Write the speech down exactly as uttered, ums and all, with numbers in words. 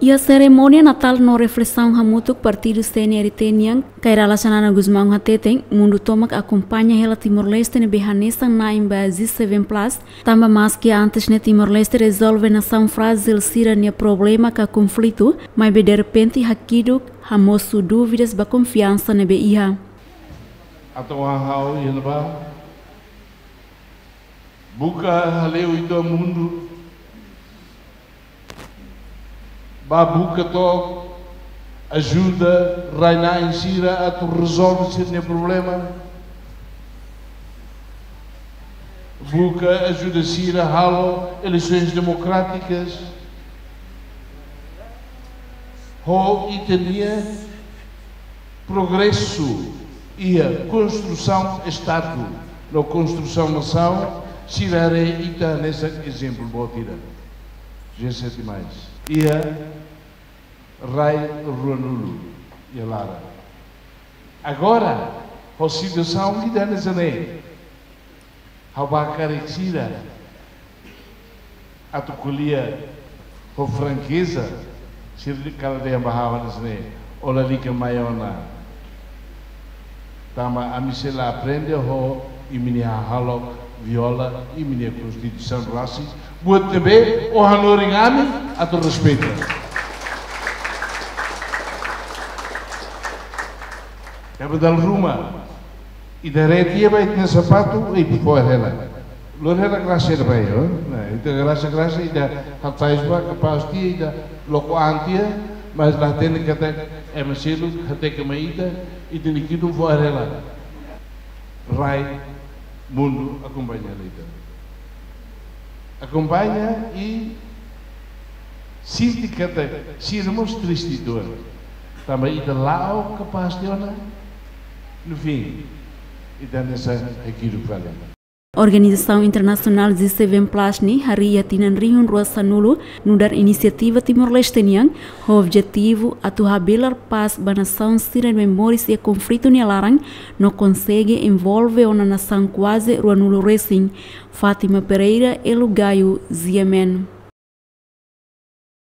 Iha serimónia Natál no reflesaun hamutuk, partidu C N R T nian, Kay Rala Xanana Gusmão hateten, mundu tomak akompaña hela Timor-Leste ne'ebé hanesan na'in ba G seven plus, tanba maski antes ne'e Timor-Leste rezolve nasaun frájil sira-nia problema ka konflitu, maibé derrepente hakiduk, hamosu dúvidas ba konfiansa ne'ebé iha. Atu ha'u iha ne'ebá, buka hale'u ita mundu, bá buka to'o ajuda rai-na'in sira atu rezolve sira-nia problema. Buka ajuda sira halo eleisoens demokrátikas. Ho ita-nia progresu iha konstrusaun Estadu no konstrusaun nasaun, sira haree ita hanesan ezemplu boot ida. G sete mais. Iha rai ruanulu iha laran. Agora, ho situasaun ida hanesan ne'e, ha'u bá karik sira atu ko'alia ho frankeza, sira dehan ba ha'u hanesan ne'e: "Ó lalika mai ona. Tanba ami sei la aprende ho imi-nia hahalok viola imi-nia Konstituisaun rasik, buat ne'ebé ó hanorin ami atu respeita." Tanba dala ruma ita haree tiha ba ita-nia sapatu, ita fo'er hela. Lori hela grasa ida ba, yo. Nah, ita grasa-grasa, ita hatais ba, kapás tiha, ita loko an tiha, mas la hatene katak ema seluk hateke mai ita, ita-nia kidun fo'er hela. Rai, mundu akompaña hela ita. Akompaña i sente katak sira mós triste uitoan. Tanba ita la'o kapás tiha ona, no fim, ita hanesan hakiduk fali. Organizasaun internasionál G seven plus ne'e harii iha tinan rihun rua sanulu nu'udar inisiativa Timor-Leste nian, ho objetivu atu habelar pás ba nasaun sira ne'ebé moris iha konflitu nia laran, no konsege envolve ona nasaun kuaze ruanulu resin. Fátima Pereira, Elo Gayo, G M N.